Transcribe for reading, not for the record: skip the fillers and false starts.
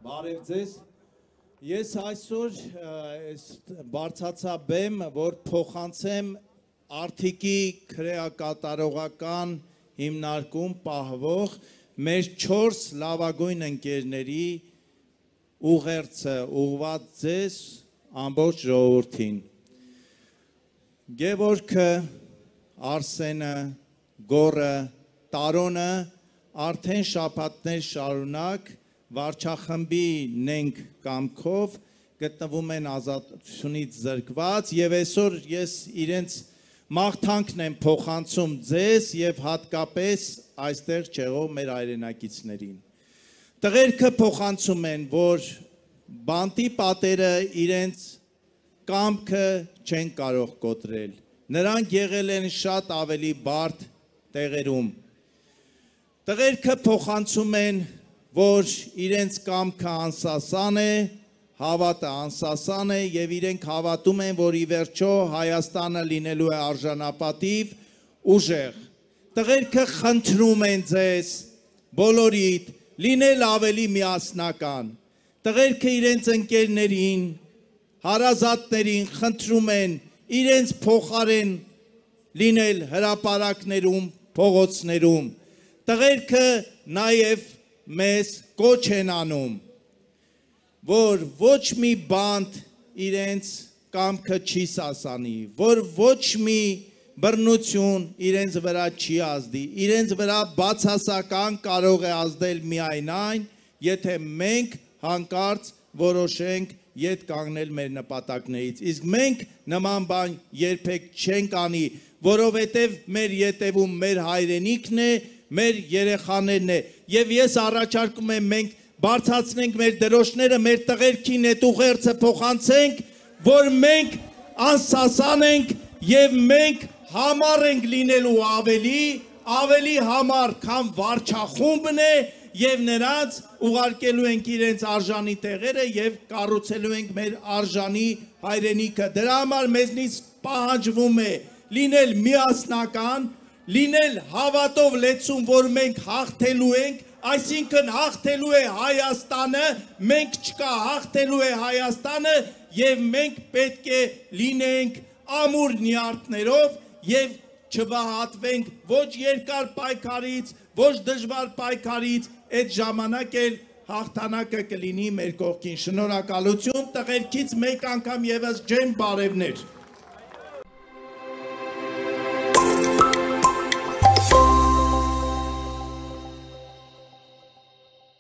Բարև ձեզ։ Ես այսօր բարձացա բեմ, որ փոխանցեմ Արթիկի քրեակատարողական հիմնարկում պահվող մեր 4 լավագույն ընկերների ուղերձը ուղղված ձեզ ամբողջ ժողովրդին։ Գևորգը, Արսենը, Գորը, Տարոնը արդեն շաբաթներ շարունակ վարչախմբի նենք կամքով գտնվում են ազատությունից զրկված եւ այսօր ես իրենց մաղթանքն եմ փոխանցում ձեզ եւ հատկապես այստեղ չեղող մեր հայրենակիցներին։ Տղերքը փոխանցում են, որ բանտի պատերը իրենց կամքը չեն կարող կոտրել։ Նրանք եղել են շատ ավելի բարդ տեղերում։ Տղերքը փոխանցում են, որ իրենց կամքը անսասան է, հավատը անսասան է եւ իրենք հավատում են, որ ի վերջո Հայաստանը լինելու է արժանապատիվ, ուժեղ։ Տղերքը խնդրում են ձեզ բոլորիդ լինել ավելի միասնական։ Տղերքը իրենց ընկերներին, հարազատներին խնդրում են իրենց փոխարեն լինել հրապարակներում, փողոցներում։ Տղերքը նաև մեզ կոչ են անում, որ ոչ մի բանտ իրենց կամքը չի սասանի, որ ոչ մի բռնություն իրենց վրա չի ազդի, իրենց վրա բացասական կարող է ազդել միայն այն, եթե մենք հանկարծ որոշենք ետ կանգնել մեր նպատակներից, իսկ մենք նման բան երբեք չենք անի, որովհետև մեր ետևում մեր հայրենիքն է, մեր երեխաներն է, եւ ես առաջարկում եմ մենք բարձրացնենք մեր դրոշները, մեր տղերքին այդ ուղերձը փոխանցենք, որ մենք անսասան ենք եւ մենք համառ ենք լինելու ավելի համառ, քան վարչախումբն է եւ նրանց ուղարկելու ենք իրենց արժանի տեղերը եւ կառուցելու ենք մեր արժանի հայրենիքը։ Դրա համար մեզնից պահանջվում է լինել միասնական, լինել հավատով լեցուն, որ մենք հաղթելու ենք, այսինքն հաղթելու է Հայաստանը, մենք չկա, հաղթելու է Հայաստանը եւ մենք պետք է լինենք ամուր նյարդներով եւ չվահատվենք ոչ երկար պայքարից, ոչ դժվար պայքարից, այդ ժամանակ էլ հաղթանակը կլինի մեր կողքին։ Շնորհակալություն, տղերքից մեկ անգամ եւս ջեմ բարևներ։